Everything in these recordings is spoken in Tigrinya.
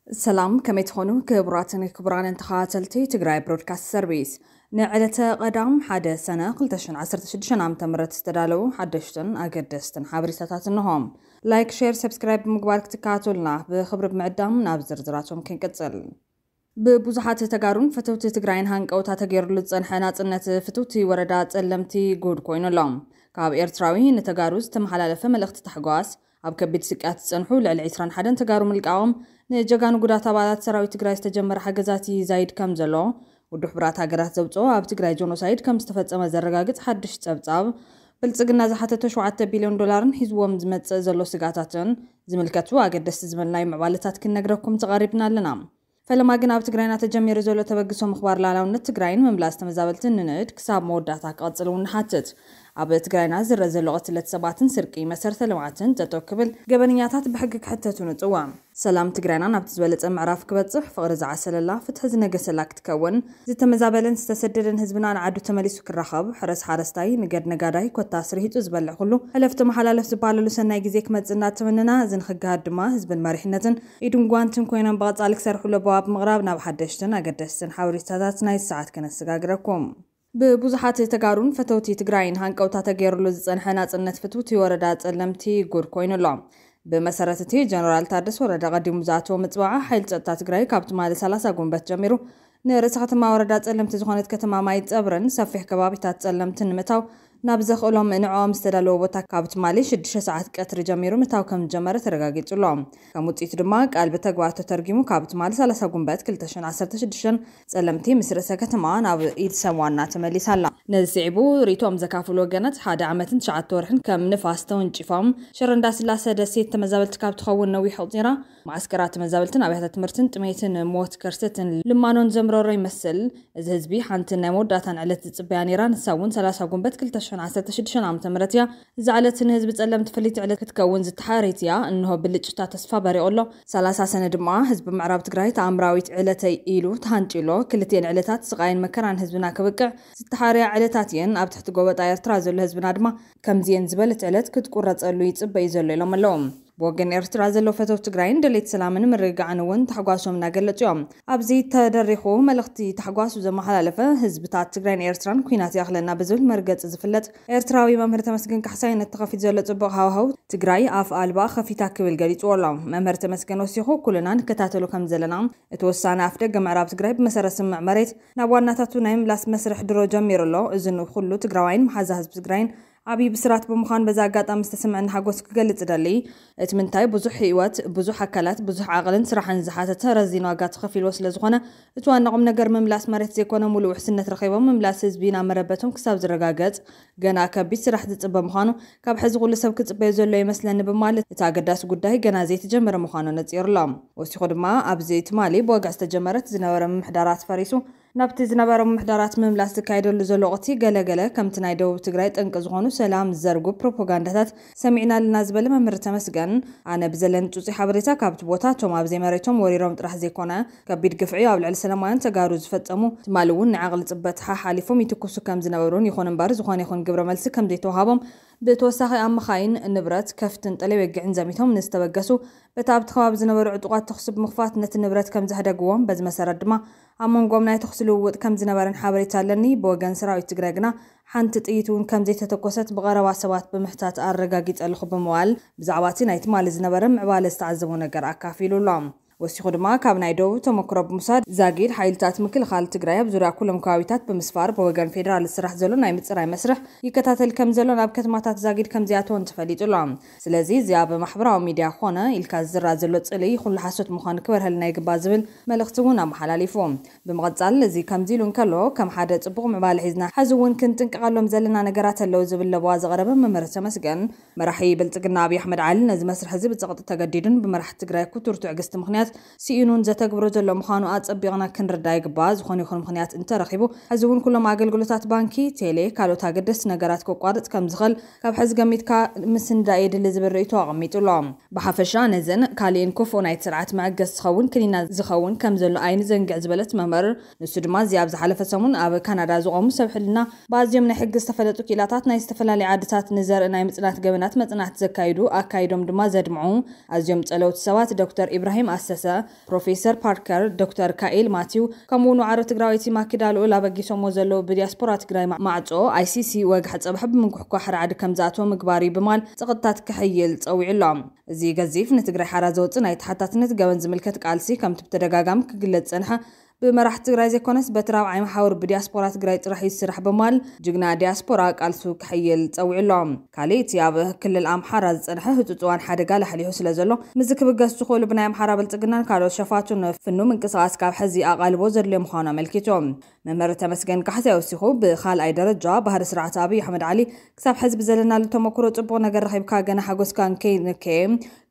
ሰላም፣ ከመይ ትኾኑ ክቡራትን ክቡራንን ተኸታተልቲ ትግራይ ብሮድካስት ሰርቪስ? ንዕለተ ቀዳም ሓደ ሰነ ክልተ ሽሕን ዓሰርተ ሽዱሽተን ዓመተ ምህረት ዝተዳለዉ ሓደሽትን ኣገደስትን ሓበሬታታት እንሆ። ላይክ፣ ሼር፣ ሰብስክራይብ ብምግባር ክትከታተሉና ብኽብሪ ብምዕዳም ናብ ዝርዝራቶም ክንቅጽል። ብብዙሓት ተጋሩን ፈተውቲ ትግራይን ሃንቀውታ ተገይሩሉ ዝጸንሐ ናጽነት ፍትውቲ ወረዳ ጸለምቲ ጉድ ኮይኑ ኣሎ። ካብ ኤርትራዊ ንተጋሩ ዝተመሓላለፈ መልእኽቲ ታሕጓስ፣ ኣብ ከቢድ ስቅያት ዝጸንሑ ልዕሊ ዕስራን ሓደን ተጋሩ ምልቃቖም፣ ንጀጋኑ ጉዳት ኣባላት ሰራዊት ትግራይ ዝተጀመረ ሓገዛት ይዛይድ ከም ዘሎ፣ ውድብ ሕቡራት ሃገራት ዘውጽኦ ኣብ ትግራይ ጆኖሳይድ ከም ዝተፈጸመ ዘረጋግጽ ሓድሽ ጸብጻብ፣ ብልጽግና ዝሓተቶ ሸውዓተ ቢልዮን ዶላርን ሒዝዎም ዝመጽእ ዘሎ ስጋታትን ዝምልከቱ ኣገደስቲ ዝበልናዮ ምዕባለታት ክንነግረኩም ተቓሪብና ኣለና። ፈለማ ግን ኣብ ትግራይና ተጀሚሩ ዘሎ ተበግሶ ምኽባር ሉዓላውነት ትግራይን ምምላስ ተመዛበልትን ንንእድ ክሳብ መወዳእታ ክቐጽል እውን ንሓትት። ኣብ ትግራይና ዝረአ ዘሎ ቅትለት ሰባትን ስርቂ መሰረተ ልምዓትን ጠጠው ክብል፣ ገበነኛታት ብሕጊ ክሕተቱ ንጽውዕ። ሰላም ትግራይና ናብቲ ዝበለጸ ምዕራፍ ክበጽሕ፣ ፍቕሪ ዝዓሰለላ፣ ፍትሒ ዝነገሰላ ክትከውን፣ ዝተመዛበለን ዝተሰደደን ህዝብና ንዓዱ ተመሊሱ ክራኸብ፣ ሕረስ ሓረስታይ፣ ንገድ ነጋዳይ፣ ኮታስ ርሂጹ ዝበልዕ ኩሉ፣ ሕለፍ ተመሓላለፍ ዝበሃለሉ ሰናይ ግዜ ክመጽእ እናተመነና፣ እዚ ንክገሃድ ድማ ህዝብን መሪሕነትን ኢድን ጓንትን ኮይኖም ብቐጻሊ ክሰርሑ ለበዋ ብምቕራብ ናብ ሓደሽትን ኣገደስትን ሓበሬታታት ናይ ሰዓት ከነሰጋግረኩም። ብብዙሓት ተጋሩን ፈተውቲ ትግራይን ሃንቀውታ ተገይሩሉ ዝጸንሐ ናጽነት ፍትውቲ ወረዳ ጸለምቲ ጉድ ኮይኑ ኣሎ። ብመሰረት እቲ ጀነራል ታደሰ ወረደ ቀዲሙ ዝኣተዎ ምጽዋዕ፣ ሓይሊ ጸጥታ ትግራይ ካብ ትማሊ ሰላሳ ጉንበት ጀሚሩ ንርእሰ ከተማ ወረዳ ጸለምቲ ዝኾነት ከተማ ማይ ጸብርን ሰፊሕ ከባቢታት ጸለምትን ንምእታው ናብ ዘኽእሎም ንዕኦም ዝተዳለወ ቦታ ካብ ትማሊ ሽዱሽተ ሰዓት ቀትሪ ጀሚሩ ምእታው ከም ዝጀመረ ተረጋጊጹ ኣሎ። ከም ውጽኢቱ ድማ ቃል ብተግባር ተተርጊሙ ካብ ትማሊ ሰላሳ ጉንበት ክልተ ሽሕን ዓሰርተ ሽዱሽተን ጸለምቲ ምስ ርእሰ ከተማ ናብ ኢድ ሰብ ዋና ተመሊሳ ኣላ። ነዚ ስዒቡ ርእይቶኦም ዘካፍሉ ወገናት፣ ሓደ ዓመትን ትሽዓተ ወርሕን ከም ንፋስ ተወንጪፎም ሽረ እንዳስላሰ ደሴት ተመዛበልቲ ካብ ትኸውን ነዊሕ ኣቑጺራ፣ መዓስከራት ተመዛበልትን ኣብያተ ትምህርትን ጥሜትን ሞት ከርተትን ልማኖን ዘምረሮ ይመስል። እዚ ህዝቢ ሓንቲ ናይ መወዳእታን ዕለት ዝጽበያ ነይራ። ንሳ እውን ሰላሳ ጉንበት ክልተ ሽሕን ዓሰርተ ሽዱሽተን ዓመተ ምህረት እያ። እዛ ዕለት ንህዝቢ ጸለምቲ ፍልይቲ ዕለት ክትከውን ዝተሓረየት እያ። እንሆ ብልጭታ ተስፋ በሪቑ ኣሎ። ሰላሳ ሰነ ድማ ህዝቢ ምዕራብ ትግራይ ተኣምራዊት ዕለተይ ኢሉ ተሃንጢ ኣሎ። ክልቲኤን ዕለታት ስቓይን መከራን ህዝብና ክብቅዕ ዝተሓረያ ዕለታት እየን። ኣብ ትሕቲ ጎበጣ ኤርትራ ዘሎ ህዝብና ድማ ከምዚኤን ዝበለት ዕለት ክትቁረጸሉ ይጽበ እዩ ዘሎ ኢሎም ኣለዉ። ብወገን ኤርትራ ዘለዉ ፈተውቲ ትግራይን ደለይቲ ሰላምን ምርግጋዕን እውን ታሕጓሶም እናገለጹ እዮም። ኣብዚ ተደሪኹ መልእኽቲ ታሕጓሱ ዘመሓላለፈ፣ ህዝብታት ትግራይን ኤርትራን ኲናት ይኣኽለና ብዝብል መርገጺ ዝፍለጥ ኤርትራዊ መምህር ተመስገን ካሕሳይ፣ ነቲ ተኸፊቱ ዘሎ ጽቡቕ ሃዋህው ትግራይ ኣፍ ኣልባ ከፊታ ክብል ገሊጽዎ ኣሎ። መምህር ተመስገን ወሲኹ፣ ኩልና ንከታተሎ ከም ዘለና፣ እቲ ውሳነ ኣፍ ደገ ምዕራብ ትግራይ ብመሰረት ስምምዕ መሬት ናብ ዋናታቱ ናይ ምምላስ መስርሕ ድሮ ጀሚሩ ኣሎ። እዚ ንኹሉ ትግራዋይን መሓዛ ህዝቢ ትግራይን ዓብዪ ብስራት ብምዃን በዚ ኣጋጣሚ ዝተሰምዐኒ ሓጎስ ክገልጽ እደሊ። እቲ ምንታይ ብዙሕ ህይወት፣ ብዙሕ ኣካላት፣ ብዙሕ ዓቕልን ስራሕን ዝሓተተ ረዚን ዋጋ ተኸፊልዎ ስለ ዝኾነ፣ እቲ ዋና ቁም ነገር ምምላስ መሬት ዘይኮነ፣ ሙሉእ ውሕስነት ረኺቦም ምምላስ ህዝቢ ናብ መረበቶም ክሳብ ዝረጋገጽ ገና ከቢድ ስራሕ ዝጽበ ምዃኑ፣ ካብ ሕዚ ኩሉ ሰብ ክጽበዮ ዘሎ ይመስለኒ ብምባል፣ እቲ ኣገዳሲ ጉዳይ ገና ዘይተጀመረ ምዃኑ ነጺሩ ኣሎ። ወሲኹ ድማ፣ ኣብዚ ትማሊ ብወግዒ ዝተጀመረት ዝነበረ ምምሕዳራት ፈሪሱ፣ ናብቲ ዝነበረ ምምሕዳራት ምምላስ ዝካየደሉ ዘሎ ወቕቲ፣ ገለ ገለ ከምቲ ናይ ደቡብ ትግራይ ጠንቂ ዝኾኑ ሰላም ዝዘርጉ ፕሮፓጋንዳታት ሰሚዕና ኣለና ዝበለ መምህር ተመስገን፣ ኣነ ብዘለኒ ጹጹይ ሓበሬታ ካብቲ ቦታ፣ እቶም ኣብ ዘይመሬቶም ወሪሮም ጥራሕ ዘይኮነ፣ ከቢድ ግፍዒ ኣብ ልዕሊ ሰላማውያን ተጋሩ ዝፈጸሙ፣ ትማሊ እውን ንዓቕሊ ጽበት ሓሓሊፎም ይትኩሱ ከም ዝነበሩን፣ ይኹን እምበር ዝኾነ ይኹን ግብረ መልሲ ከም ዘይተዋሃቦም፣ ብተወሳኺ ኣብ መኻይን፣ ንብረት፣ ከፍትን ጠለይ ወግዕን ዘሚቶም ንዝተበገሱ፣ በቲ ኣብቲ ከባቢ ዝነበሩ ዕጡቓት ተኹሲ ብምኽፋት ነቲ ንብረት ከም ዘህደግዎም፣ በዚ መሰረት ድማ ኣብ መንጎም ናይ ተኹሲ ልውውጥ ከም ዝነበረን ሓበሬታ ኣለኒ። ብወገን ሰራዊት ትግራይ ግና ሓንቲ ጥይት እውን ከም ዘይተተኮሰት ብቐረባ ሰባት ብምሕታት ኣረጋጊጸ ኣለኹ ብምባል፣ ብዛዕባ እቲ ናይ ትማሊ ዝነበረ ምዕባለ ዝተዓዘቦ ነገር ኣካፊሉ ኣሎ። ወሲኹ ድማ፣ ካብ ናይ ደቡብ ተመክሮ ብምውሳድ፣ ዛጊድ ሓይልታት ምክልኻል ትግራይ ኣብ ዙርያ ኩሎም ከባቢታት ብምስፋር፣ ብወገን ፌዴራል ዝስራሕ ዘሎ ናይ ምጽራይ መስርሕ ይከታተል ከም ዘሎ፣ ናብ ከተማታት ዛጊድ ከም ዝኣተወን ተፈሊጡ ኣሎ። ስለዚ፣ እዚ ኣብ ማሕበራዊ ሚድያ ኮነ ኢልካ ዝዝራ ዘሎ ጽልኢ ኩሉ ሓሶት ምዃኑ ክበርሀልና ይግባእ ዝብል መልእኽቲ እውን ኣመሓላሊፉ። ብምቕጻል፣ እዚ ከምዚ ኢሉ እንከሎ፣ ከም ሓደ ጽቡቕ ምዕባለ ሒዝና፣ ሕዚ እውን ክንጥንቀቐሎም ዘለና ነገራት ኣለዉ ዝብል ለበዋ ዘቕረበ መምህር ተመስገን፣ መራሒ ብልጽግና ኣብይ ኣሕመድ ዓሊ ነዚ መስርሕ እዚ ብጸቕጢ ተገዲዱን ብመራሕቲ ትግራይ ክቱር ትዕግስቲ ምኽንያት ስኢኑን ዘተግብሮ ዘሎ ምዃኑ ኣጸቢቕና ክንርዳእ ይግባእ። ዝኾነ ይኹን ምኽንያት እንተረኺቡ፣ ሕዚ እውን ኩሎም ኣገልግሎታት ባንኪ፣ ቴሌ፣ ካልኦት ኣገደስቲ ነገራት ከቋርጽ ከም ዝኽእል ካብ ሕዚ ገሚትካ ምስንዳእ የድሊ ዝብል ርእይቶ ኣቐሚጡ ኣሎ። ብሓፈሻ ነዝን ካሊእን ክፉእ ናይቲ ስርዓት መዐገሲ ዝኸውን ክኒና ዝኸውን ከም ዘሎ ኣይንዘንግዕ ዝበለት መምህር፣ ንሱ ድማ እዚ ኣብ ዝሓለፈ ሰሙን ኣብ ካናዳ ዝቖሙ ሰብ ሕልና ብኣዝዮም ናይ ሕጊ ዝተፈለጡ ክኢላታት ናይ ዝተፈላለዩ ዓድታት ንዘርኢ ናይ ምጽናት ገበናት መጽናዕቲ ዘካይዱ ኣካይዶም ድማ ዘድምዑ ኣዝዮም ጸለውቲ ሰባት ዶክተር ኢብራሂም ኣሰ ፕሮፌሰር ፓርከር፣ ዶክተር ካኤል ማቲው፣ ከምኡ ንዋዕሮ ትግራወይቲ ማኪዳ ልኡል ኣበጊሶሞ ዘለዉ ብዲያስፖራ ትግራይ ማ-፣ ማዕጾ ኣይሲሲ ወግሐ ጸብሐ ብምንኩሕኳሕ ራዕዲ ከም ዝኣተወ ምግባር እዩ ብማል ጸቕጥታት ክሕይል ጸዊዑ ኣሎ። እዚ ገዚፍ ንትግራይ ሓራ ዘውጽእ ናይ ተሓታትነት ገበን ዝምልከት ቃልሲ ከምቲ ብተደጋጋሚ ክግለጽ ጸንሐ ብመራሕቲ ትግራይ ዘይኮነስ በቲ ራብዓይ መሓውር ብዲያስፖራ ትግራይ ጥራሕ ይስራሕ ብማል ጅግና ዲያስፖራ ቃልሱ ክሕይል ጸዊዑ ኣሎ። ካልእ እቲ ኣብ ክልል ኣምሓራ ዝጸንሐ ህጹጽ እዋን ሓደጋ ላሕሊሑ ስለ ዘሎ ምስዚ ክብገስ ዝኽእሉ ብናይ ኣምሓራ ብልጽግናን ካልኦት ሸፋቱን ፍኑ ምንቅስቓስ ካብ ሕዚ ኣቓልቦ ዘድልዮ ምዃኑ ኣመልኪቱ። መምህር ተመስገን ካሕሳይ ወሲኹ ብኻልኣይ ደረጃ ባህሪ ስርዓት ኣብይ ኣሕመድ ዓሊ ክሳብ ሕዚ ብዘለናሉ ተመክሮ ጽቡቕ ነገር ረኺብካ ገና ሓጎስካ እንከይንከየ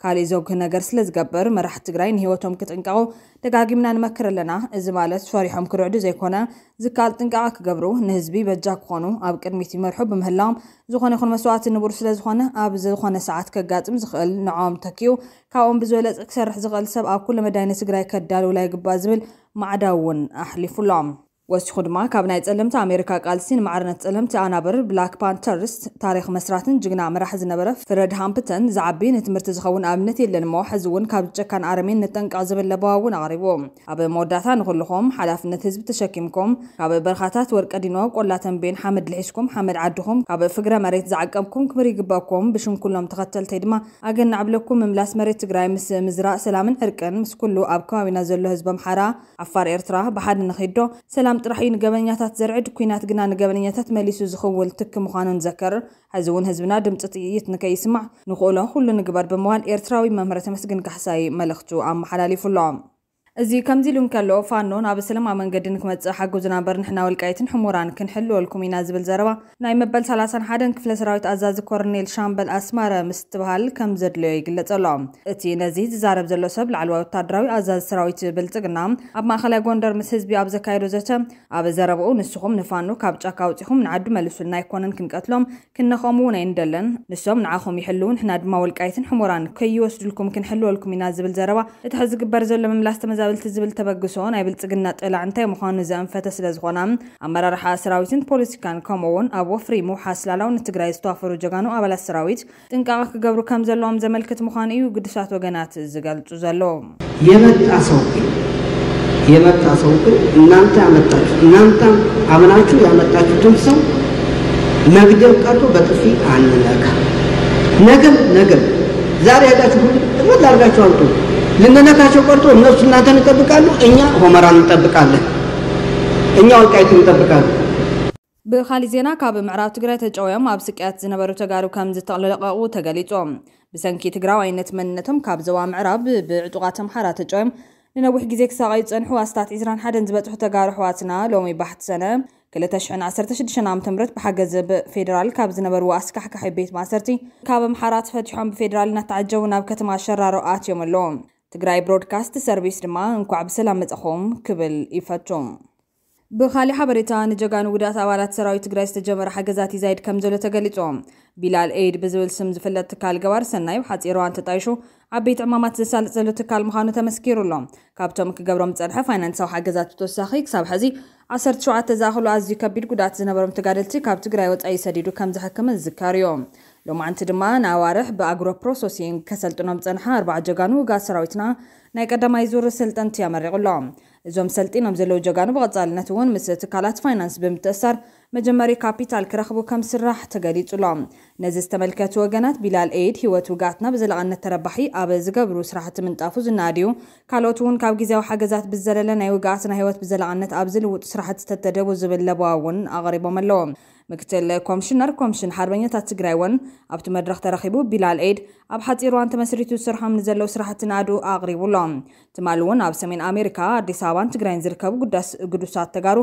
ካሊእ ዘጉህ ነገር ስለ ዝገብር መራሕቲ ትግራይ ንህይወቶም ክጥንቀቑ ደጋጊምና ንመክር ኣለና። እዚ ማለት ፈሪሖም ክርዕዱ ዘይኮነ ዝከኣል ጥንቃቐ ክገብሩ ንህዝቢ በጃ ክኾኑ ኣብ ቅድሚት ይመርሑ ብምህላዎም ዝኾነ ይኹን መስዋእቲ ንቡር ስለ ዝኾነ ኣብ ዝኾነ ሰዓት ከጋጥም ዝኽእል ንዕኦም ተኪኡ ካብኦም ብዝበለጸ ክሰርሕ ዝኽእል ሰብ ኣብ ኩሉ መዳይ ንትግራይ ከዳልውላ ይግባእ ዝብል ማዕዳ እውን ኣሕሊፉሎም። ወሲኹ ድማ ካብ ናይ ጸለምቲ ኣሜሪካ ቃልሲ ንማዕርነት ጸለምቲ ኣናብር ብላክ ፓንተርስ ታሪኽ መስራትን ጅግና መራሕ ዝነበረ ፍረድ ሃምፕተን ዝዓቢ ንትምህርቲ ዝኸውን ኣብነት የለን እሞ ሕዚ እውን ካብ ጨካን ኣረሜን ንጠንቀቕ ዝብል ለበዋ እውን ኣቕሪቡ። ኣብ መወዳእታ ንኹልኹም ሓላፍነት ህዝቢ ተሸኪምኩም ካብ በርኻታት ወርቀ ዲኖ ቆላ ተንቤን ሓመድ ልሒስኩም ሓመድ ዓድኹም ካብ ፍግረ መሬት ዝዓቀብኩም ክብሪ ይግበኩም። ብሽም ኩሎም ተኸተልተይ ድማ ኣገናዕ ብለኩም ምምላስ መሬት ትግራይ ምስ ምዝራእ ሰላምን ዕርቅን ምስ ኩሉ ኣብ ከባቢና ዘሎ ህዝቢ ኣምሓራ ዓፋር ኤርትራ ብሓደ ንኺዶ ሰላም ጥራሕ እዩ ንገበነኛታት ዘርዕድ፣ ኲናት ግና ንገበነኛታት መሊሱ ዝኽውል ትኪ ምዃኑ ንዘክር። ሕዚ እውን ህዝብና ድምፂ ጥይት ንከይስማዕ ንኽእሎ ኩሉ ንግበር ብምባል ኤርትራዊ መምህር ተመስገን ካሕሳይ መልእኽቱ ኣመሓላሊፉ ኣሎ። እዚ ከምዚ ኢሉ እንከሎ ፋኖ ናብ ሰላማዊ መንገዲ ንክመፅእ ሓግዙና እምበር ንሕና ወልቃይትን ሕሞራን ክንሕልወልኩም ኢና ዝብል ዘረባ ናይ መበል ሰላሳን ሓደን ክፍለ ሰራዊት ኣዛዚ ኮርኔል ሻምበል ኣስማረ ምስትብሃል ከም ዘድለዮ ይግለጽ ኣሎ። እቲ ነዚ ዝዛረብ ዘሎ ሰብ ላዕለዋይ ወታደራዊ ኣዛዚ ሰራዊት ብልጽግና ኣብ ማእኸላይ ጎንደር ምስ ህዝቢ ኣብ ዘካየዶ ዘተ ኣብ ዘረብኡ ንስኹም ንፋኖ ካብ ጫካ ኣውጺኹም ንዓዱ መልሱልና ኣይኮነን ክንቀትሎም ክነኸሙ እውን ኣይንደለን። ንሶም ንዓኹም ይሕልው ንሕና ድማ ወልቃይትን ሕሞራን ከይወስዱልኩም ክንሕልወልኩም ኢና ዝብል ዘረባ እቲ ሕዚ ዝግበር ዘሎ ምምላስ ተመዛበልቲ ዝብል ተበግሶ ናይ ብልጽግና ጠላዕ እንታይ ምዃኑ ዘእንፈተ ስለ ዝኾና ኣመራርሓ ሰራዊትን ፖለቲካን ከምኡ እውን ኣብ ወፍሪ ምውሓስ ላላውነት ትግራይ ዝተዋፈሩ ጀጋኑ ኣባላት ሰራዊት ጥንቃቐ ክገብሩ ከም ዘለዎም ዘመልክት ምዃኑ እዩ ግዱሳት ወገናት ዝገልጹ ዘለዉ። የመጣ ሰው ግን የመጣ ሰው ግን እናንተ ያመጣችሁ እናንተ አምናችሁ ያመጣችሁትን ሰው መግደል ቀርቶ በጥፊ አንነካ። ነገም ነገም ዛሬ ሄዳችሁ ሁሉ ጥቅልል አድርጋችሁ አምጡ። ልንነካቸው ቀርቶ እነሱ እናንተን ይጠብቃሉ፣ እኛ ሆመራን እንጠብቃለን፣ እኛ ወልቃይት እንጠብቃለን። ብኻሊእ ዜና ካብ ምዕራብ ትግራይ ተጨውዮም ኣብ ስቅያት ዝነበሩ ተጋሩ ከም ዝተለቀቑ ተገሊጹ። ብሰንኪ ትግራዋይነት መንነቶም ካብ ዞባ ምዕራብ ብዕጡቓት ኣምሓራ ተጨውዮም ንነዊሕ ግዜ ክሳቐዩ ዝጸንሑ ኣስታት ዕስራን ሓደን ዝበጽሑ ተጋሩ ኣሕዋትና ሎሚ ባሕቲ ሰነ ክልተ ሽሕን ዓሰርተ ሽዱሽተን ዓመተ ምህረት ብሓገዝ ብ-፣ ፌደራል ካብ ዝነበርዎ ኣስካሕካሒ ቤት ማእሰርቲ ካብ ኣምሓራ ተፈቲሖም ብፌደራል እናተዓጀቡ ናብ ከተማ ሸራሮ ኣትዮም ኣለዉ። ትግራይ ብሮድካስት ሰርቪስ ድማ እንኳዕ ብሰላም መጻኹም ክብል ይፈቱ። ብኻሊእ ሓበሬታ ንጀጋኑ ውዳት ኣባላት ሰራዊት ትግራይ ዝተጀመረ ሓገዛት ይዛይድ ከም ዘሎ ተገሊጹ። ቢላል ኤይድ ብዝብል ስም ዝፍለጥ ትካል ገባር ሰናይ ብሓጺር እዋን ተጣይሹ ዓበይቲ ዕማማት ዘሳልጥ ዘሎ ትካል ምዃኑ ተመስኪሩ ኣሎ። ካብቶም ክገብሮም ዝጸንሐ ፋይናንሳዊ ሓገዛት ብተወሳኺ ክሳብ ሕዚ ዓሰርተ ሸውዓተ ዝኣኽሉ ኣዝዩ ከቢድ ጉድኣት ዝነበሮም ተጋደልቲ ካብ ትግራይ ወጻኢ ሰዲዱ ከም ዘሕክምን ዝዝከር እዩ። ሎማዓንቲ ድማ ንኣዋርሕ ብኣግሮ ፕሮሰሲንግ ከሰልጥኖም ዝጸንሐ ኣርባዓ ጀጋኑ ውግኣት ሰራዊትና ናይ ቀዳማይ ዙር ሰልጠንቲ ኣመሪቑ ኣሎ። እዞም ሰልጢኖም ዘለዉ ጀጋኑ ብቐጻልነት እውን ምስ ትካላት ፋይናንስ ብምትእሳር መጀመሪ ካፒታል ክረኽቡ ከም ስራሕ ተገሊጹ ኣሎ። ነዚ ዝተመልከቱ ወገናት ቢላል ኤይድ ህይወት ውግኣትና ብዘላቕነት ተረባሒ ኣብ ዝገብሩ ስራሕቲ ምንጣፉ ዝነኣድ እዩ። ካልኦት እውን ካብ ግዜያዊ ሓገዛት ብዝዘለለ ናይ ውግኣትና ህይወት ብዘላቕነት ኣብ ዝልውጡ ስራሕቲ ተተደቡ ዝብል ለበዋ እውን ኣቕሪቦም ኣለዉ። ምክትል ኮምሽነር ኮምሽን ሓርበኛታት ትግራይ እውን ኣብቲ መድረኽ ተረኺቡ ቢላል ኤይድ ኣብ ሓፂር እዋን ተመስሪቱ ዝሰርሖም ንዘለዉ ስራሕቲ ናእዱ ኣቕሪቡ ኣሎ። ትማሊ እውን ኣብ ሰሜን ኣሜሪካ ኣዲስ ኣበባን ትግራይን ዝርከቡ ጉዳስ-፣ ግዱሳት ተጋሩ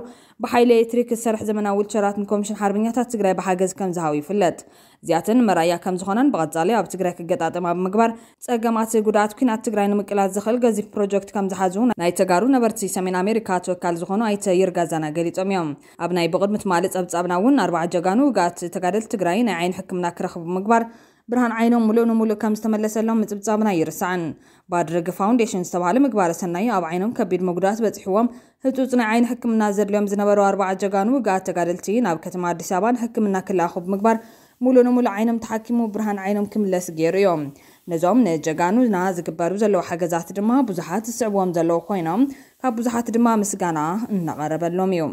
ብሓይሊ ኤሌክትሪክ ዝሰርሕ ዘመናዊ ዊልቸራት ንኮምሽን ሓርበኛታት ትግራይ ብሓገዝ ከም ዝሃቡ ይፍለጥ። እዚኣተን መርኣያ ከም ዝኾናን ብቐጻሊ ኣብ ትግራይ ክገጣጠማ ብምግባር ጸገማት ጉድኣት ኲናት ትግራይ ንምቅላል ዝኽእል ገዚፍ ፕሮጀክት ከም ዝሓዙ ናይ ተጋሩ ነበርቲ ሰሜን ኣሜሪካ ተወካል ዝኾኑ ኣይተ ይርጋ ዛና ገሊጾም እዮም። ኣብ ናይ ብቕድሚ ትማሊ ጸብጻብና እውን ኣርባዓ ጀጋኑ ውግኣት ተጋደልቲ ትግራይ ናይ ዓይኒ ሕክምና ክረኽቡ ብምግባር ብርሃን ዓይኖም ሙሉእ ንሙሉእ ከም ዝተመለሰሎም ምጽብጻብና ኣይርሳዕን። ባድርግ ፋውንዴሽን ዝተባህለ ምግባረ ሰናይ ኣብ ዓይኖም ከቢድ መጉዳእቲ በጺሕዎም ህጹጽ ናይ ዓይኒ ሕክምና ዘድልዮም ዝነበሩ ኣርባዓ ጀጋኑ ውግኣት ተጋደልቲ ናብ ከተማ ኣዲስ ኣበባ ንሕክምና ክለኣኹ ብምግባር ሙሉእ ንሙሉእ ዓይኖም ተሓኪሙ ብርሃን ዓይኖም ክምለስ ገይሩ እዮም። ነዞም ንጀጋኑና ዝግበሩ ዘለዉ ሓገዛት ድማ ብዙሓት ዝስዕብዎም ዘለዉ ኮይኖም፣ ካብ ብዙሓት ድማ ምስጋና እናቐረበሎም እዩ።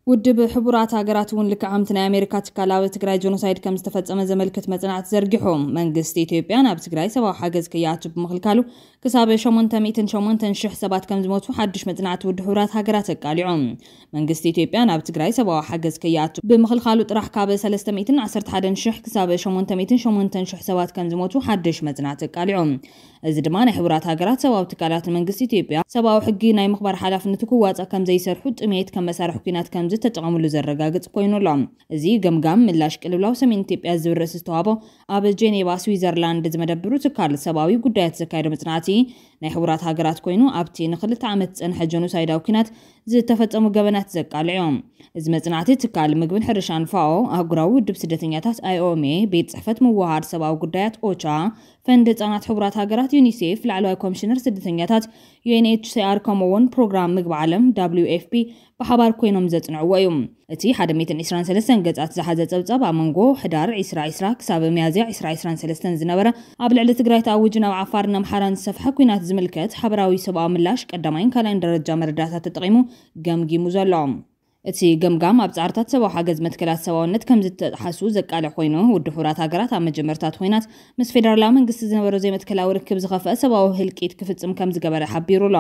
ውድብ ሕቡራት ሃገራት እውን ልክዕ ከምቲ ናይ ኣሜሪካ ትካል ኣብ ትግራይ ጀኖሳይድ ከም ዝተፈጸመ ዘመልክት መጽናዕቲ ዘርጊሑ። መንግስቲ ኢትዮጵያ ናብ ትግራይ ሰብኣዊ ሓገዝ ከይኣቱ ብምኽልካሉ ክሳብ ሸሞንተ ሚእትን ሸሞንተን ሽሕ ሰባት ከም ዝሞቱ ሓድሽ መጽናዕቲ ውድብ ሕቡራት ሃገራት ኣቃሊዑ። መንግስቲ ኢትዮጵያ ናብ ትግራይ ሰብኣዊ ሓገዝ ከይኣቱ ብምኽልካሉ ጥራሕ ካብ ሰለስተ ሚእትን ዓሰርተ ሓደን ሽሕ ክሳብ ሸሞንተ ሚእትን ሸሞንተን ሽሕ ሰባት ከም ዝሞቱ ሓድሽ መጽናዕቲ ኣቃሊዑ። እዚ ድማ ናይ ሕቡራት ሃገራት ሰብኣዊ ትካላት መንግስቲ ኢትዮጵያ ሰብኣዊ ሕጊ ናይ ምኽባር ሓላፍነቱ ክዋፃእ ከም ዘይሰርሑ ጥሜት ከም መሳርሒ ኲናት ከም ዝተጠቐምሉ ዘረጋግጽ ኮይኑ ኣሎ። እዚ ገምጋም ምላሽ ቅልውላው ሰሜን ኢትዮጵያ ዝብል ርእሲ ዝተዋህቦ ኣብ ጄኔቫ ስዊዘርላንድ ዝመደብሩ ትካል ሰብኣዊ ጉዳያት ዘካየዶ መጽናዕቲ ናይ ሕቡራት ሃገራት ኮይኑ ኣብቲ ንክልተ ዓመት ዝጸንሐ ጀኖሳይዳዊ ኲናት ዝተፈጸሙ ገበናት ዘቃልዕ እዮም። እዚ መጽናዕቲ ትካል ምግብን ሕርሻን ፋኦ፣ ኣህጉራዊ ውድብ ስደተኛታት ኣይኦኤምኤ፣ ቤት ጽሕፈት ምውሃድ ሰብኣዊ ጉዳያት ኦቻ፣ ፈንድ ህጻናት ሕቡራት ሃገራት ዩኒሴፍ፣ ላዕለዋይ ኮሚሽነር ስደተኛታት ዩ ኤን ኤች ሲ ኣር ከምኡ እውን ፕሮግራም ምግቢ ዓለም ደብሊው ኤፍ ፒ ብሓባር ኮይኖም ዘጽንዕዎ እዩ። እቲ ሓደ ሚእትን ዕስራን ሰለስተን ገጻት ዝሓዘ ጸብጻብ ኣብ መንጎ ሕዳር ዕስራ ዕስራ ክሳብ ሚያዝያ ዕስራ ዕስራን ሰለስተን ዝነበረ ኣብ ልዕሊ ትግራይ ተኣዊጁ ናብ ዓፋርን ኣምሓራን ዝሰፍሐ ኲናት ዝምልከት ሓበራዊ ሰብኣዊ ምላሽ ቀዳማይን ካልኣይን ደረጃ መረዳእታ ተጠቒሙ ገምጊሙ ዘሎ። እቲ ገምጋም ኣብ ጻዕርታት ሰብኣዊ ሓገዝ መትከላት ሰብኣውነት ከም ዝተጥሓሱ ዘቃልዕ ኮይኑ፣ ውድብ ሕቡራት ሃገራት ኣብ መጀመርታ እቲ ኲናት ምስ ፌደራላዊ መንግስቲ ዝነበሮ ዘይመትከላዊ ርክብ ዝኸፍአ ሰብኣዊ ህልቂት ክፍጽም ከም ዝገበረ ሓቢሩ ኣሎ።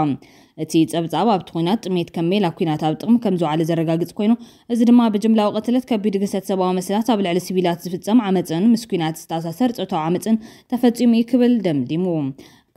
እቲ ጸብጻብ ኣብቲ ኲናት ጥሜት ከም ሜላ ኲናት ኣብ ጥቕሚ ከም ዝወዓለ ዘረጋግጽ ኮይኑ፣ እዚ ድማ ብጅምላዊ ቅትለት፣ ከቢድ ግህሰት ሰብኣዊ መሰላት፣ ኣብ ልዕሊ ሲቪላት ዝፍጸም ዓመጽን ምስ ኲናት ዝተኣሳሰር ጾታዊ ዓመጽን ተፈጺሙ እዩ ክብል ደምዲሙ።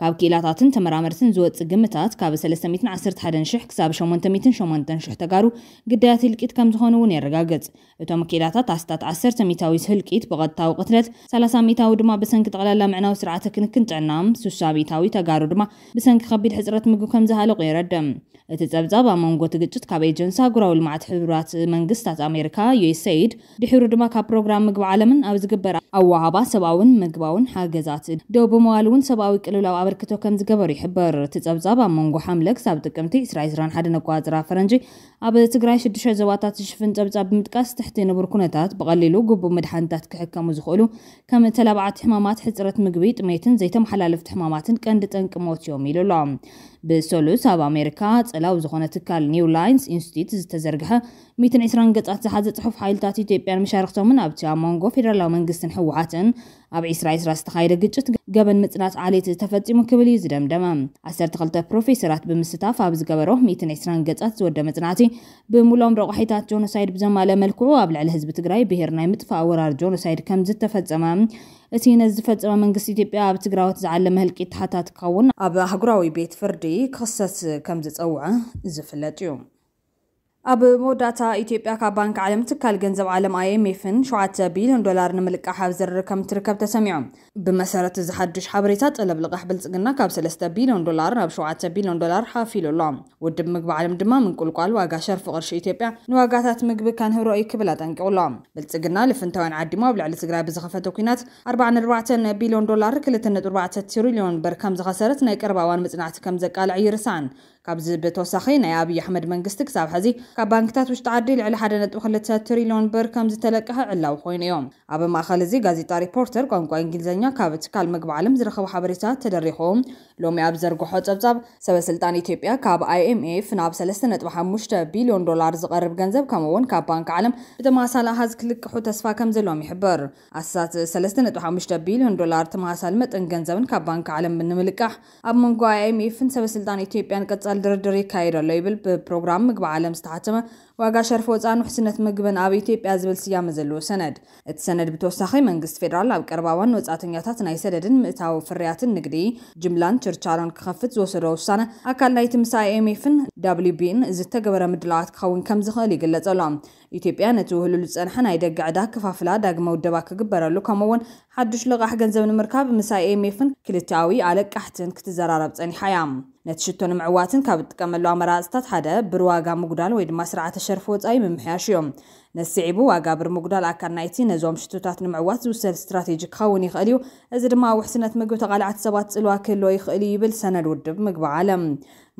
ካብ ክኢላታትን ተመራመርትን ዝወጽእ ግምታት ካብ ሰለስተ ሚእትን ዓሰርተ ሓደን ሽሕ ክሳብ ሸሞንተ ሚእትን ሸሞንተን ሽሕ ተጋሩ ግዳያት ህልቂት ከም ዝኾኑ እውን የረጋግጽ። እቶም ክኢላታት ኣስታት ዓሰርተ ሚእታዊ ህልቂት ብቐጥታዊ ቅትለት፣ ሰላሳ ሚእታዊ ድማ ብሰንኪ ጠቕላላ ምዕናዊ ስርዓተ ክንክን ጥዕና፣ ስሳ ሚእታዊ ተጋሩ ድማ ብሰንኪ ከቢድ ሕጽረት ምግቢ ከም ዝሃለቑ የረድእ። እቲ ጸብጻብ ኣብ መንጎ እቲ ግጭት ካብ ኤጀንሲ ኣህጉራዊ ልምዓት ሕቡራት መንግስታት ኣሜሪካ፣ ዩ ኤስ ኤ ይ ዲ፣ ድሒሩ ድማ ካብ ፕሮግራም ምግቢ ዓለምን ኣብ ዝግበር ኣወሃባ ሰብኣውን ምግባውን ሓገዛት ደው ብምባል እውን ሰብኣዊ ቅልውላው ኣበርክቶ ከም ዝገበሩ ይሕበር። እቲ ጸብጻብ ኣብ መንጎ ሓምለ ክሳብ ጥቅምቲ ዕስራ ዕስራን ሓደን ኣቆጻጽራ ፈረንጂ ኣብ ትግራይ ሽዱሽተ ዞባታት ዝሽፍን ጸብጻብ ብምጥቃስ፣ ትሕቲ ንቡር ኩነታት ብቐሊሉ ግቡእ መድሓኒታት ክሕከሙ ዝኽእሉ ከም ተላባዕቲ ሕማማት፣ ሕጽረት ምግቢ፣ ጥሜትን ዘይተመሓላለፍቲ ሕማማትን ቀንዲ ጠንቂ ሞት እዮም ኢሉ ኣሎ። ብሰሉስ ኣብ ኣሜሪካ ጸላው ዝኾነ ትካል ኒው ላይንስ ኢንስቲትዩት ዝተዘርግሐ ሚእትን ዕስራን ገጻት ዝሓዘ ጽሑፍ ሓይልታት ኢትዮጵያን መሻርክቶምን ኣብቲ ኣብ መንጎ ፌደራላዊ መንግስትን ህወሓትን ኣብ ዕስራ ዕስራ ዝተኻየደ ግጭት ገበን ምጽናት ዓሌት ተፈጺሙ ክብል እዩ ዝደምደመ። ዓሰርተ ክልተ ፕሮፌሰራት ብምስታፍ ኣብ ዝገበሮ ሚእትን ዕስራን ገጻት ዝወደ መጽናዕቲ፣ ብምሉኦም ረቋሒታት ጆኖሳይድ ብዘማልአ መልክዑ ኣብ ልዕሊ ህዝቢ ትግራይ ብሄር ናይ ምጥፋእ ወራር ጆኖሳይድ ከም ዝተፈጸመ፣ እቲ ነዚ ዝፈጸመ መንግስቲ ኢትዮጵያ ኣብ ትግራዎት ዝዓለመ ህልቂት ተሓታቲ ክኸውን ኣብ ኣህጉራዊ ቤት ፍርዲ ክኽሰስ ከም ዝጸውዐ ዝፍለጥ እዩ። ኣብ መወዳእታ፣ ኢትዮጵያ ካብ ባንክ ዓለም ትካል ገንዘብ ዓለም ኣይ ኤም ኤፍን ሸውዓተ ቢልዮን ዶላር ንምልቃሕ ኣብ ዝርርብ ከም ትርከብ ተሰሚዑ። ብመሰረት እዚ ሓድሽ ሓበሬታ፣ ጠለብ ልቓሕ ብልጽግና ካብ ሰለስተ ቢልዮን ዶላር ናብ ሸውዓተ ቢልዮን ዶላር ሓፊሉ ኣሎ። ውድብ ምግቢ ዓለም ድማ ምንቁልቋል ዋጋ ሸርፊ ቅርሺ ኢትዮጵያ ንዋጋታት ምግቢ ከንህሮ እዩ ክብል ኣጠንቂቑ ኣሎ። ብልጽግና ልፍንታውያን ዓዲሙ ኣብ ልዕሊ ትግራይ ብዝኸፈተ ኲናት ኣርባዓ ነጥቢ ኣርባዕተ ቢልዮን ዶላር፣ ክልተ ነጥቢ ኣርባዕተ ትሪልዮን ብር ከም ዝኸሰረት ናይ ቀረባ እዋን መጽናዕቲ ከም ዘቃልዕ ይርሳን። ካብዚ ብተወሳኺ፣ ናይ ኣብይ ኣሕመድ መንግስቲ ክሳብ ሕዚ ካብ ባንክታት ውሽጢ ዓዲ ልዕሊ ሓደ ነጥቢ ክልተ ትሪልዮን ብር ከም ዝተለቀሐ ዕላዊ ኮይኑ እዩ። ኣብ ማእኸል እዚ፣ ጋዜጣ ሪፖርተር ቋንቋ እንግሊዝኛ ካብ ትካል ምግቢ ዓለም ዝረኸቦ ሓበሬታ ተደሪኹ፣ ሎሚ ኣብ ዘርግሖ ጸብጻብ፣ ሰበ ስልጣን ኢትዮጵያ ካብ ኣይ ኤም ኤፍ ናብ ሰለስተ ነጥቢ ሓሙሽተ ቢልዮን ዶላር ዝቐርብ ገንዘብ፣ ከምኡ እውን ካብ ባንክ ዓለም ብተመሳሳሊ ኣሃዝ ክልቅሑ ተስፋ ከም ዘለዎም ይሕብር። ኣስታት ሰለስተ ነጥቢ ሓሙሽተ ቢልዮን ዶላር ተመሳሳሊ መጠን ገንዘብን ካብ ባንክ ዓለም ንምልቃሕ ኣብ መንጎ ኣይ ኤም ኤፍን ሰበ ስልጣን ኢትዮጵያን ቀጻሊ ድርድር ይካየድ ኣሎ ይብል ብፕሮግራም ምግቢ ዓለም ዝተሓተመ ዋጋ ሸርፊ ወጻእን ውሕስነት ምግብን ኣብ ኢትዮጵያ ዝብል ስያመ ዘለዎ ሰነድ። እቲ ሰነድ ብተወሳኺ፣ መንግስቲ ፌደራል ኣብ ቀረባ እዋን ንወጻእተኛታት ናይ ሰደድን ምእታው ፍርያትን ንግዲ ጅምላን ችርቻሮን ክኸፍት ዝወሰዶ ውሳነ ኣካል ናይቲ ምስ ኣይ ኤም ኤፍን ደብሊው ቢን ዝተገበረ ምድላዋት ክኸውን ከም ዝኽእል ይግለጽ ኣሎ። ኢትዮጵያ ነቲ ውህሉል ዝጸንሐ ናይ ደገ ዕዳ ከፋፍላ ዳግመ ውደባ ክግበረሉ፣ ከምኡ እውን ሓድሽ ልቓሕ ገንዘብ ንምርካብ ምስ ኣይ ኤም ኤፍን ክልቲኣዊ ኣለቃሕትን ክትዘራረብ ጸኒሓ እያ። ነቲ ሽቶ ንምዕዋትን ካብ እትጥቀመሉ ኣመራጽታት ሓደ ብር ዋጋ ምጉዳል ወይ ድማ ስርዓተ ሸርፊ ወጻኢ ምምሕያሽ እዩ። ነስዒቡ ዋጋ ብር ምጉዳል ኣካል ናይቲ ነዞም ሽቶታት ንምዕዋት ዝውሰድ ስትራቴጂ ክኸውን ይኽእል እዩ። እዚ ድማ ኣብ ውሕስነት ምግቢ ተቓላዕቲ ሰባት ጽልዋ ክህልዎ ይኽእል እዩ ይብል ሰነድ ውድብ ምግቢ ዓለም።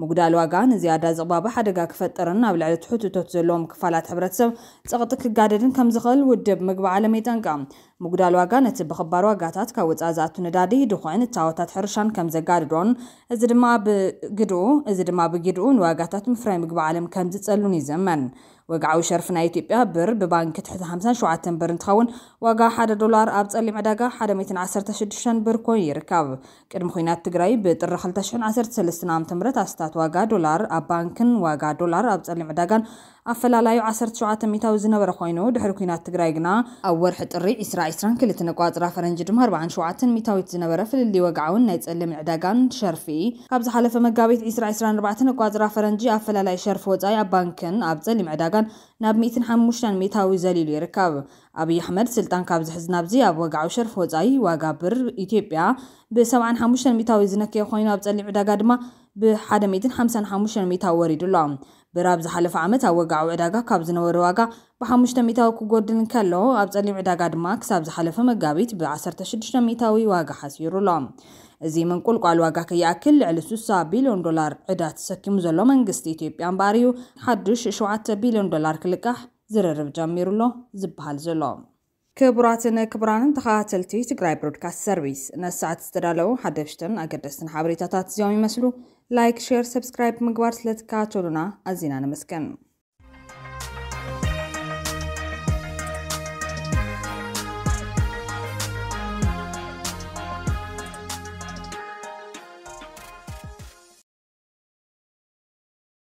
ምጉዳል ዋጋ ንዝያዳ ዝቕባበ ሓደጋ ክፈጥርን ኣብ ልዕሊ ትሑት እቶት ዘለዎም ክፋላት ሕብረተሰብ ጸቕጢ ክጋደድን ከም ዝኽእል ውድብ ምግቢ ዓለም የጠንቅቕ። ምጉዳል ዋጋ ነቲ ብኽባር ዋጋታት ካብ ወጻኢ ዝኣቱ ነዳዲ፣ ድኹዒን እታወታት ሕርሻን ከም ዘጋድዶን እዚ ድማ ብግድኡ እዚ ድማ ብግድኡ ንዋጋታት ምፍራይ ምግቢ ዓለም ከም ዝጸሉን ይዘመን። ወግዓዊ ሸርፊ ናይ ኢትዮጵያ ብር ብባንኪ ትሕቲ ሓምሳን ሸውዓተን ብር እንትኸውን፣ ዋጋ ሓደ ዶላር ኣብ ጸሊም ዕዳጋ ሓደ ሚእትን ዓሰርተ ሽዱሽተን ብር ኮይኑ ይርከብ። ቅድሚ ኲናት ትግራይ ብጥሪ ክልተ ሽሕን ዓሰርተ ሰለስተን ዓመተ ምህረት ኣስታት ዋጋ ዶላር ኣብ ባንክን ዋጋ ዶላር ኣብ ጸሊም ዕዳጋን ኣፈላላዩ ዓሰርተ ሸውዓተ ሚእታዊ ዝነበረ ኮይኑ፣ ድሕሪ ኲናት ትግራይ ግና ኣብ ወርሒ ጥሪ ዕስራ ዕስራን ክልተን ኣቋጽራ ፈረንጂ ድማ ኣርባዓን ሸውዓተን ሚእታዊት ዝነበረ ፍልልይ ዋጋ እውን ናይ ጸሊም ዕዳጋን ሸርፊ ካብ ዝሓለፈ መጋቢት ዕስራ ዕስራን ኣርባዕተን ኣቋጽራ ፈረንጂ ኣፈላላይ ሸርፊ ወጻኢ ኣብ ባንክን ኣብ ጸሊም ዕዳጋን ናብ ሚእትን ሓሙሽተን ሚእታዊ ዘሊሉ ይርከብ። ኣብይ ኣሕመድ ስልጣን ካብ ዝሕዝ ናብዚ ኣብ ወግዓዊ ሸርፊ ወጻኢ ዋጋ ብር ኢትዮጵያ ብሰብዓን ሓሙሽተን ሚእታዊ ዝነከየ ኮይኑ፣ ኣብ ጸሊም ዕዳጋ ድማ ብሓደ ሚእትን ሓምሳን ሓሙሽተን ሚእታዊ ወሪዱ ኣሎ። ብር ኣብ ዝሓለፈ ዓመት ኣብ ወግዓዊ ዕዳጋ ካብ ዝነበረ ዋጋ ብሓሙሽተ ሚእታዊ ክጎድል እንከሎ፣ ኣብ ጸሊም ዕዳጋ ድማ ክሳብ ዝሓለፈ መጋቢት ብዓሰርተ ሽዱሽተ ሚእታዊ ዋጋ ሓሲሩ ኣሎ። እዚ ምንቁልቋል ዋጋ ከይኣክል ልዕሊ ስሳ ቢልዮን ዶላር ዕዳ ተሰኪሙ ዘሎ መንግስቲ ኢትዮጵያ እምበኣር እዩ ሓድሽ ሸውዓተ ቢልዮን ዶላር ክልቃሕ ዝርርብ ጀሚሩ ኣሎ ዝበሃል ዘሎ። ክቡራትን ክቡራንን ተኸታተልቲ ትግራይ ብሮድካስት ሰርቪስ፣ ነሳዕት ዝተዳለዉ ሓደሽትን ኣገደስትን ሓበሬታታት እዚኦም ይመስሉ። ላይክ፣ ሼር፣ ሰብስክራይብ ምግባር ስለትከታተሉና ኣዚና ነመስግን።